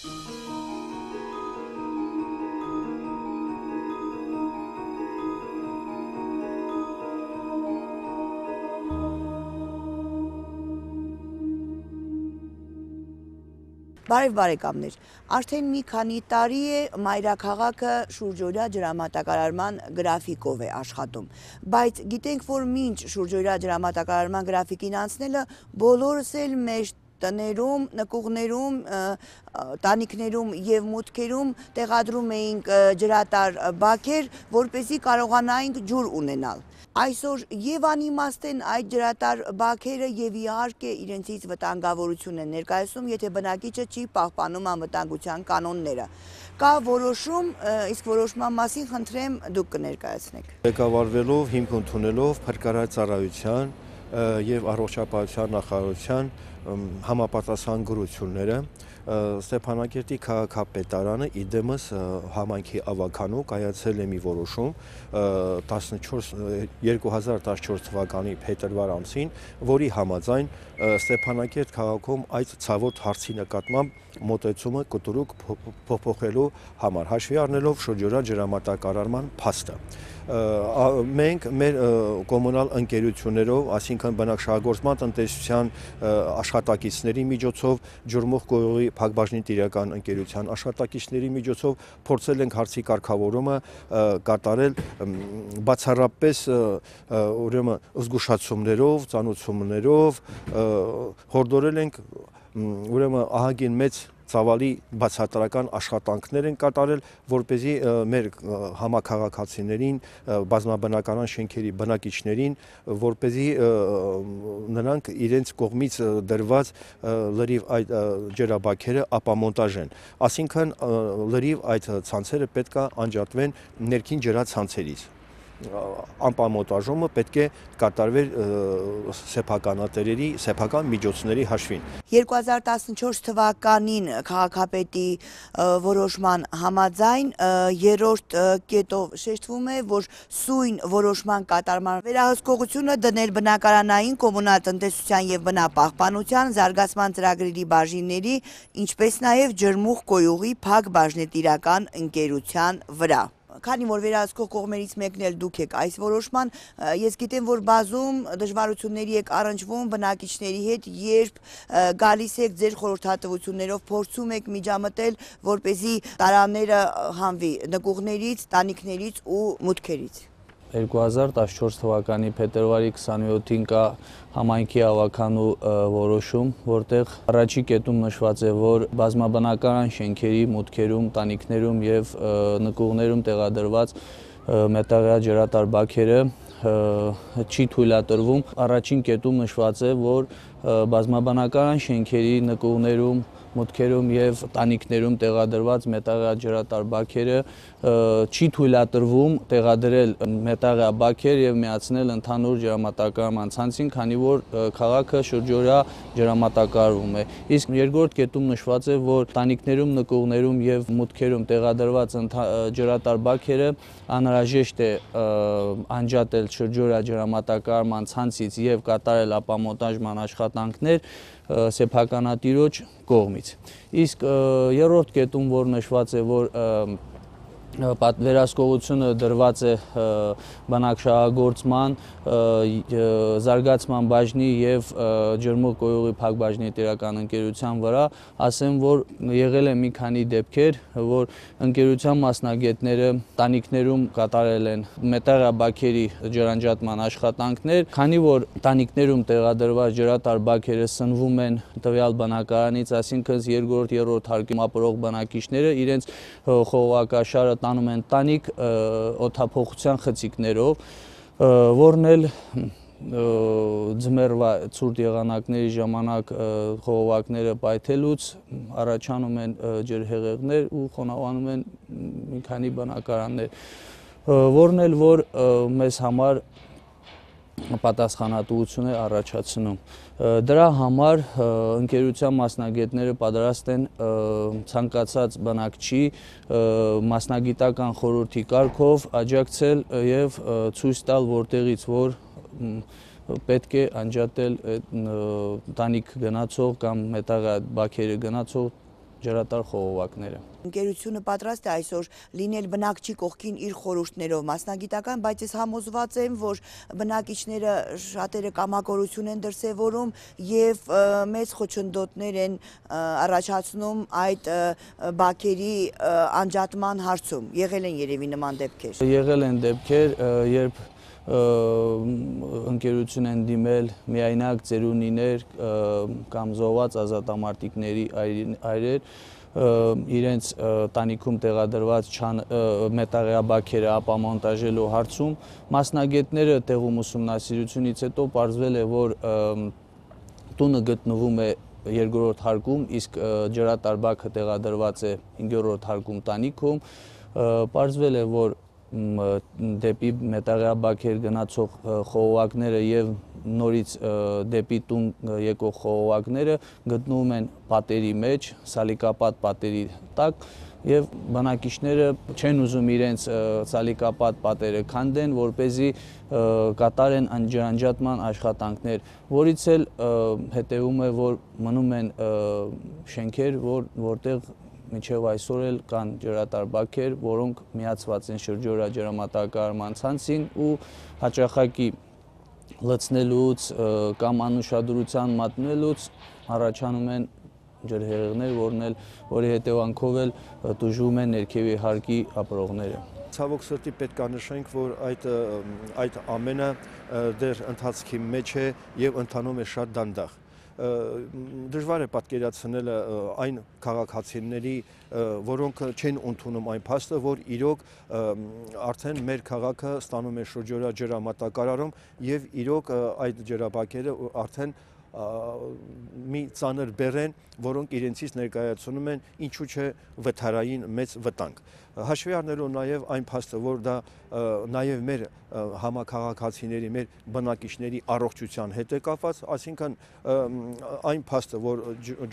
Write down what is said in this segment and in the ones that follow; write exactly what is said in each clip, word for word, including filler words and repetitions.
Բարև բարեկամներ, արդեն մի քանի տարի է մայրաքաղաքը շուրջօրյա ջրամատակարարման գրաֆիկով է աշխատում, բայց գիտենք, որ մինչ շուրջօրյա ջրամատակարարման գրաֆիկին անցնելը բոլորս էլ մեր տներում, նկուղներում, տանիքներում և մուտքերում տեղադրում էինք ջրատար բաքեր, որպեսզի կարողանայինք ջուր ունենալ։ Այսօր եւ անիմաստ են այդ ջրատար բաքերը եւ իհարկե իրենցից վտանգավորություն են ներկայացնում, եթե բնակիչը չի պահպանում անվտանգության կանոնները։ Կա որոշում, իսկ որոշման մասին խնդրեմ դուք կներկայացնեք։ Ղեկավարվելով, հիմք ընդունելով Փրկարար ծառայության եւ առողջապահության նախարարության համապատասխան գրությունները Ստեփանակերտի քաղաքապետարանը իդեմս համայնքի ավականու կայացել է մի որոշում երկու հազար տասնչորս թվականի փետրվար ամսին, որի համաձայն Ստեփանակերտ քաղաքում այդ ցավոտ հարցի նկատմամբ մոտեցումը կտրուկ փոփոխելու համար, հաշվի առնելով շրջօրյա ջրամատակարարման փաստը։ Մենք մեր կոմունալ ընկերություններով, այսինքն բնակչահագործման տնտեսության աշխատակիցների միջոցով, ջրմուղ կոյուղի փակbaşնի-տիրական ընկերության աշխատակիցների միջոցով փորձել ենք հարցի կարգավորումը կատարել բացառապես ուրեմն զգուշացումներով, ծանուցումներով, հորդորել ենք ուրեմն ահագին մեծ ծավալի բացատրական աշխատանքներ են կատարել, որպեսզի մեր համաքաղաքացիներին, բազմաբնակարան շենքերի բնակիչներին, որպեսզի նրանք իրենց կողմից դրված լրիվ այդ ջրաբաքերը ապամոնտաժեն։ Այսինքն լրիվ այդ ցանցերը պետք է անջատվեն ներքին ջրացանցերից։ Անպամոնտաժումը պետք է կատարվեր սեփականատերերի, սեփական միջոցների հաշվին։ երկու հազար տասնչորս թվականին քաղաքապետի որոշման համաձայն երրորդ կետով շեշտվում է, որ սույն որոշման կատարման վերահսկողությունը դնել բնակարանային, կոմունալ տնտեսության եւ բնապահպանության զարգացման ծրագրերի բաժինների, ինչպես նաեւ ջրմուղ կոյուղի փակbaşնի-տիրական ընկերության վրա։ Քանի որ վերահսկող կողմերից մեկն էլ դուք եք այս որոշման, ես գիտեմ, որ բազում դժվարությունների եք առնչվում բնակիչների հետ, երբ գալիս եք ձեր խորհրդատվություններով, փորձում եք միջամտել, որպեսզի տարաները հանվի նկուղներից, տանիքներից ու մուտքերից։ երկու հազար տասնչորս թվականի փետրվարի քսաներորդին կա համայնքի ավականու որոշում, որտեղ առաջի կետում նշված է, որ բազմաբնակարան շենքերի մուտքերում, տանիքներում եւ նկուղներում տեղադրված մետաղյա ջրատար բաքերը չի թույլատրվում։ Առաջին կետում նշված է, որ բազմաբնակարան շենքերի նկուղներում, մուտքերում եւ տանիքներում տեղադրված մետաղյա ջրատար բաքերը չի թույլատրվում տեղադրել մետաղյա բաքեր եւ միացնել ընդհանուր ջրամատակարարման ցանցին, քանի որ քաղաքը շրջօրյա ջրամատակարարվում է։ Իսկ երկրորդ կետում նշված է, որ տանիքներում, նկուղներում եւ մուտքերում տեղադրված ջրատար բաքերը անհրաժեշտ է անջատել շրջօրյա ջրամատակարարման ցանցից եւ կատարել ապամոնտաժման աշխատանքներ սեփականատիրոջ կողմից։ Իսկ երրորդ կետում, որ նշված է, որ վերահսկողությունը դրված է բնակչահագործման, զարգացման բաժնի եւ ջրմուղ կոյուղի փակbaşնի-տիրական ընկերության վրա, ասեմ, որ եղել է մի քանի դեպքեր, որ ընկերության մասնագետները տանիքներում կատարել են մետաղյա բաքերի ջրանջատման աշխատանքներ, քանի որ տանիքներում տեղադրված ջրատար բաքերը սնվում են տվյալ բնակարանից, այսինքն երկրորդ, երրորդ հարկում ապրող բնակիչները իրենց խողովակաշարը տանում են տանիք օդափոխության խցիկներով, որն էլ ձմեռվա ցուրտ եղանակների ժամանակ խողովակները պայթելուց առաջանում են ջրհեղեղներ ու խոնավանում են մի քանի բնակարաններ, որն էլ որ մեզ համար պատասխանատվություն է առաջացնում։ Դրա համար ընկերության մասնագետները պատրաստ են ցանկացած բնակչի մասնագիտական խորհրդի կարգով աջակցել եւ ցույց տալ, որտեղից որ պետք է անջատել տանիք գնացող կամ մետաղյա բաքերը գնացող ջրատար խողովակները։ Ընկերությունը պատրաստ է այսօր լինել բնակչի կողքին իր խորհուրդներով մասնագիտական, բայց ես համոզված եմ, որ բնակիչները շատերը կամակորություն են դրսևորում եւ մեծ խոչընդոտներ են առաջացնում այդ բակերի անջատման հարցում։ Եղել են երևի նման դեպքեր։ Եղել են դեպքեր, երբ ընկերություն են դիմել միայնակ ծերունիներ կամ զոհված ազատամարտիկների այրեր, իրենց տանիքում տեղադրված մետաղյա բաքերը ապամոնտաժելու հարցում մասնագետները տեղում ուսումնասիրությունից հետո պարզվել է, որ տունը գտնվում է երկրորդ հարկում, իսկ ջրատար բաքը տեղադրված է հինգերորդ հարկում տանիքում, պարզվել է, որ դեպի մետաղյա բաքեր գնացող խողովակները եւ նորից դեպի տուն եկող խողովակները գտնվում են պատերի մեջ, սալիկապատ պատերի տակ եւ բնակիչները չեն ուզում իրենց սալիկապատ պատերը քանդեն, որպեսզի կատարեն ջրանջատման աշխատանքներ, որից էլ հետեւում է, որ մնում են շենքեր, որ որտեղ մինչև այսօր էլ կան ջրատար բաքեր, որոնք միացված են շրջօրաջրամատակարարման ցանցին ու հաճախակի լցնելուց կամ անուշադրության մատնելուց առաջանում են ջրհեղեղներ, որի հետևանքով էլ տուժում են ներքևի հարկի ապրողները։ Ցավոք սրտի պետք է նշենք, որ այդ այդ ամենը դեռ ընթացքի մեջ է եւ ընթանում է շատ դանդաղ։ Դժվար է պատկերացնել այն քաղաքացիների, որոնք չեն ընդունում այն փաստը, որ իրոք արդեն մեր քաղաքը ստանում է շրջօրաջրամատակարարում եւ իրոք այդ ջրաբակերը արդեն մի ծանր բեռ են, որոնք իրենցից ներկայացնում են ինչու՞ չէ վթարային մեծ վտանգ։ Հաշվի առնելով նաև այն փաստը, որ դա նաև մեր համաքաղաքացիների, մեր բնակիչների առողջության հետ է կապված, այսինքն այն փաստը, որ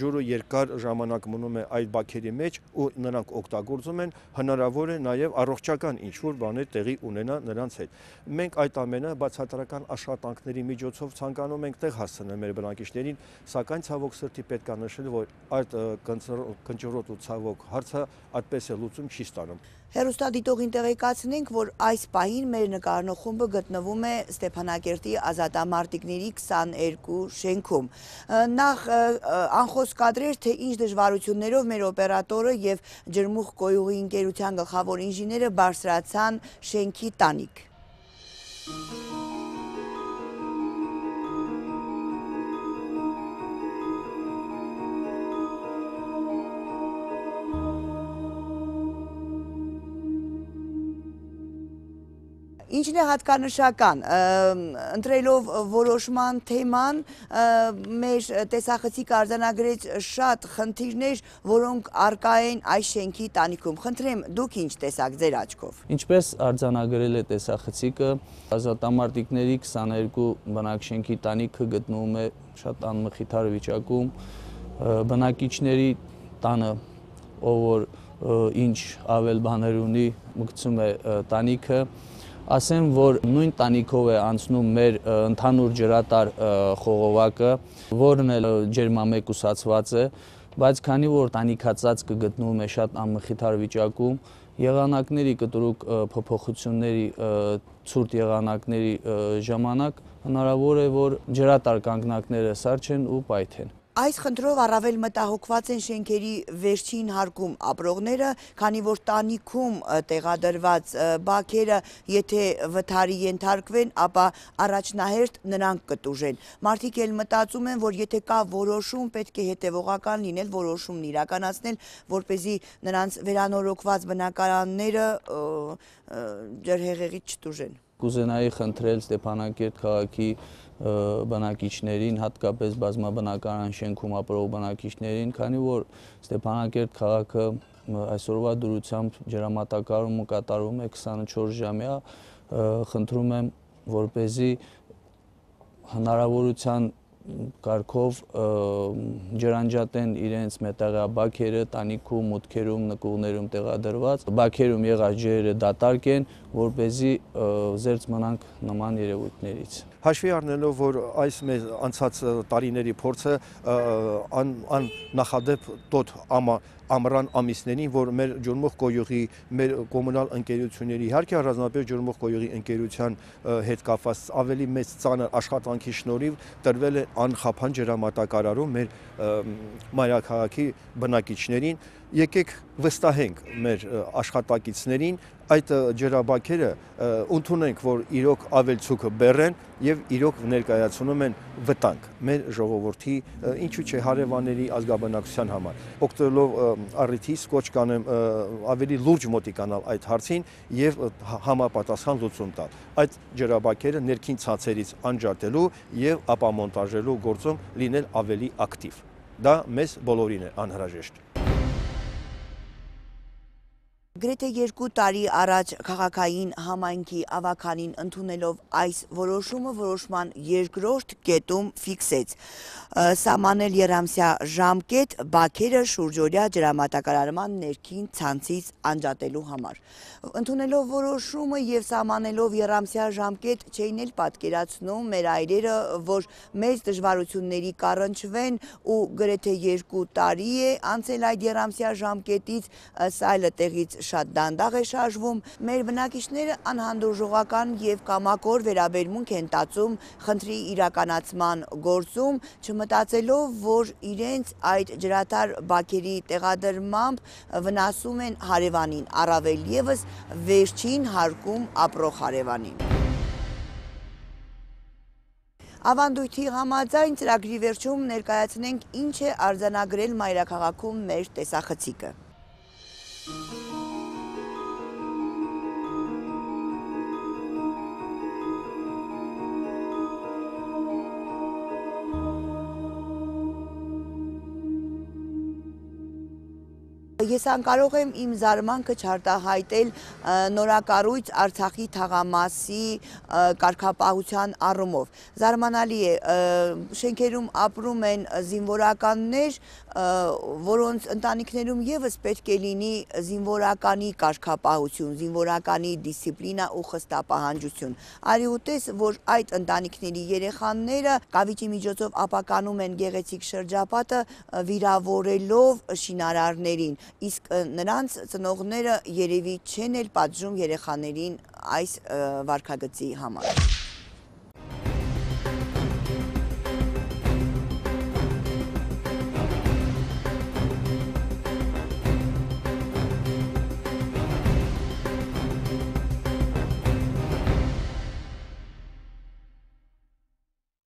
ջուրը երկար ժամանակ մնում է այդ բաքերի մեջ ու նրանք օգտագործում են, հնարավոր է նաև առողջական ինչ-որ բաներ տեղի ունենա նրանց հետ։ Մենք այդ ամենը բացատրական աշխատանքների միջոցով ցանկանում ենք տեղ հասցնել մեր բնակիչներին, սակայն ցավոք սրտի պետք է նշել, որ այդ կնճռոտ ու ցավոք հարցը այդպես է լուծում չի ստանում։ Հեռուստադիտողին տեղեկացնենք, որ այս պահին մեր նկարնող խումբը գտնվում է Ստեփանակերտի ազատամարտիկների քսաներկու շենքում։ Նախ անխոս կադրեր, թե ինչ դժվարություններով մեր օպերատորը եւ ջրմուղ կոյուղի ընկերության գլխավոր ինժեները բարձրացան շենքի տանիք։ Ինչն է հատկանշական, ընտրելով որոշման թեման, մեր տեսախցիկը արձանագրեց շատ խնդիրներ, որոնք առկա են այս շենքի տանիքում։ Խնդրեմ, դուք ինչ տեսաք ձեր աչքով։ Ինչպես արձանագրել է տեսախցիկը, ազատամարտիկների քսաներկու բնակշենքի տանիքը գտնվում է շատ անմխիթար վիճակում, բնակիչների տանը, ով որ ինչ ավել բաներ ունի, մգցում է տանիքը, ասեմ, որ նույն տանիքով է անցնում մեր ընդհանուր ջրատար խողովակը, որն էլ ջերմամեկուսացված է, բայց քանի որ տանիքածածկը գտնվում է շատ անմխիթար վիճակում, եղանակների կտրուկ փոփոխությունների, ցուրտ եղանակների ժամանակ հնարավոր է, որ ջրատար կանգնակները սառչեն ու պայթեն։ Այս խնդրով առավել մտահոգված են շենքերի վերջին հարկում ապրողները, քանի որ տանիքում տեղադրված բաքերը, եթե վթարի ենթարկվեն, ապա առաջնահերթ նրանք կտուժեն։ Մարդիկ էլ մտածում են, որ եթե կա որոշում, պետք է հետևողական լինել, որոշումն իրականացնել, որպեսզի նրանց վերանորոգված բնակարանները ջրհեղեղից չտուժեն։ Կուզենայի խնդրել Ստեփանակերտ քաղաքի բնակիչներին, հատկապես բազմաբնակարան շենքում ապրող բնակիչներին, քանի որ Ստեփանակերտ քաղաքը այսօրվա դրությամբ ջրամատակարարումը կատարում է քսանուչորս ժամյա, խնդրում եմ, որպեսզի հնարավորության կարգով ջրանջատեն իրենց մետաղյա բաքերը տանիքում, մուտքերում, նկուղներում տեղադրված, բաքերում եղած ջրերը դատարկ են, որպեսզի զերծ մնանք նման երևույթներից։ Հաշվի առնելով, որ այս մեր անցած տարիների փորձը ան, ան նախադեպ տոտ ամա ամռան ամիսներին, որ մեր ջուրմուղ կոյուղի, մեր կոմունալ ընկերությունների, իհարկե առանձնապես ջուրմուղ կոյուղի ընկերության հետ կապված ավելի մեծ ծանր աշխատանքի շնորհիվ տրվել է անխափան ջրամատակարարում մեր մայրաքաղաքի բնակիչներին։ Եկեք վստահենք մեր աշխատակիցներին, այդ ջրաբաքերը ընդունենք, որ իրոք ավելցուկը բեռ են եւ իրոք ներկայացնում են վտանգ մեր ժողովրդի, ինչու՞ չէ հարևանների ազգաբնակության համար։ Օգտվելով առիթից կոչ կանեմ ավելի լուրջ մոտիկանալ այդ հարցին եւ համապատասխան լուծում տալ։ Այդ ջրաբաքերը ներքին ցածերից անջատելու եւ ապամոնտաժելու գործում լինել ավելի ակտիվ։ Դա մեզ բոլորին է անհրաժեշտ։ Գրեթե երկու տարի առաջ քաղաքային համայնքի ավականին ընդունելով այս որոշումը որոշման երկրորդ կետում ֆիքսեց սահմանել եռամսյա ժամկետ բաքերը շուրջօրյա ջրամատակարարման ներքին ցանցից անջատելու համար։ Ընդունելով որոշումը եւ սահմանելով եռամսյա ժամկետ չէին էլ պատկերացնում մեր այրերը, որ մեծ դժվարությունների կառնչվեն ու գրեթե երկու տարի է անցել այդ եռամսյա ժամկետից, սայլը տեղից շատ դանդաղ է շարժվում, մեր բնակիչները անհանդուրժողական եւ կամակոր վերաբերմունք են տածում խնդրի իրականացման գործում, չմտածելով, որ իրենց այդ ջրատար բաքերի տեղադրմամբ վնասում են հարևանին, առավել եւս վերջին հարկում ապրող հարևանին։ Ավանդույթի համաձայն ծրագրի վերջում ներկայացնենք ինչ է արձանագրել մայրաքաղաքում մեր տեսախցիկը։ Ես անկարող եմ իմ զարմանքը չարտահայտել նորակառույց Արցախի թաղամասի կարգապահության առումով։ Զարմանալի է, շենքերում ապրում են զինվորականներ, որոնց ընտանիքներում եւս պետք է լինի զինվորականի կարգապահություն, զինվորականի դիսցիպլինա ու խստապահանջություն։ Արի ուտես, որ այդ ընտանիքների երեխաները կավիճի միջոցով ապականում են գեղեցիկ շրջապատը, վիրավորելով շինարարներին, իսկ նրանց ծնողները երևի չեն էլ պատժում երեխաներին այս վարքագծի համար։